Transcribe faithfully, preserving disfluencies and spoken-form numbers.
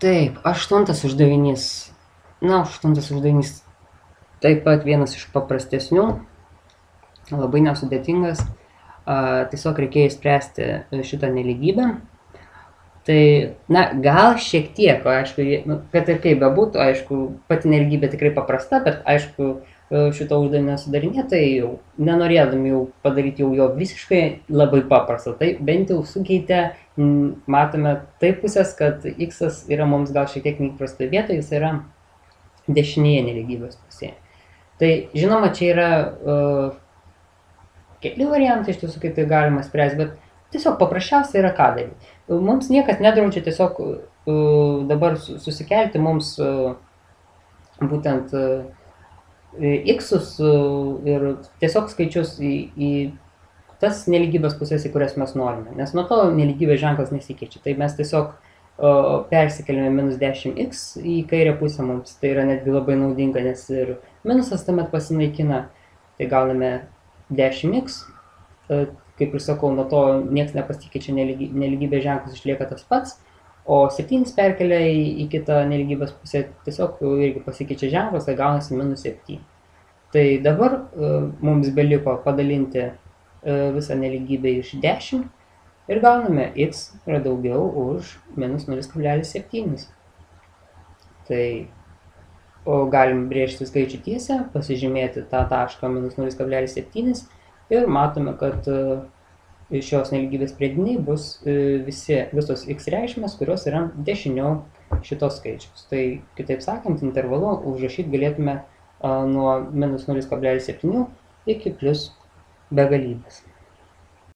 Taip, aštuntas uždavinys. Na, aštuntas uždavinys taip pat vienas iš paprastesnių, labai nesudėtingas. A, tiesiog reikėjo išspręsti šitą nelygybę. Tai, na, gal šiek tiek, aišku, nu, kad ir kaip bebūtų, aišku, pati nelygybė tikrai paprasta, bet, aišku, šito uždavinio sudarinėtojai jau, nenorėdami jau padaryti jau jo visiškai labai paprastą, tai bent jau sukeitė, matome taip pusės, kad x yra mums gal šiek tiek neįprastoje vietoje, jis yra dešinėje nelygybės pusėje. Tai, žinoma, čia yra uh, keli variantai iš tiesų, kaip tai galima spręsti, bet tiesiog paprasčiausia yra ką daryti. Mums niekas nedraudžia tiesiog uh, dabar susikelti mums uh, būtent uh, x'us uh, ir tiesiog skaičius į, į tas nelygybės pusės, į kurias mes norime. Nes nuo to nelygybės ženklas nesikeičia. Tai mes tiesiog uh, persikeliame minus dešimt x į kairę pusę mums. Tai yra netgi labai naudinga, nes ir minusas tuomet pasinaikina. Tai gauname dešimt x. Uh, kaip ir sakau, nuo to niekas nepasikeičia, nelygy, nelygybės ženklas išlieka tas pats, o septynis perkelia į, į kitą nelygybės pusę, tiesiog irgi pasikeičia ženklas, tai gaunasi minus septyni. Tai dabar uh, mums beliko padalinti uh, visą nelygybę iš dešimt ir gauname x yra daugiau už minus nulis kablelis septyni. Tai o galim brėžti skaičių tiesę, pasižymėti tą tašką minus nulis kablelis septyni. Ir matome, kad šios nelygybės priediniai bus visi, visos x reikšmės, kurios yra dešiniau šitos skaičiaus. Tai kitaip sakant, intervalu užrašyti galėtume nuo minus nulis kablelis septyni iki plius begalybės.